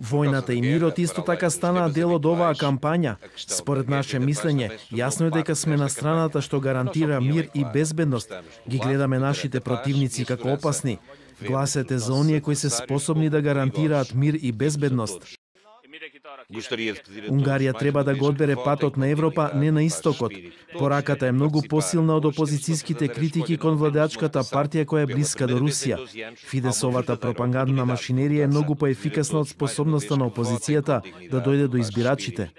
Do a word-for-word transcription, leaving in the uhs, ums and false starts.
Војната и мирот исто така станаа дел од оваа кампања. Според наше мислење, јасно е дека сме на страната што гарантира мир и безбедност. Ги гледаме нашите противници како опасни. Гласете за оние кои се способни да гарантираат мир и безбедност. Унгарија треба да го одбере патот на Европа, не на истокот. Пораката е многу посилна од опозицијските критики кон владеачката партија која е блиска до Русија. Фидесовата пропагандна машинерија е многу поефикасна од способноста на опозицијата да дојде до избирачите.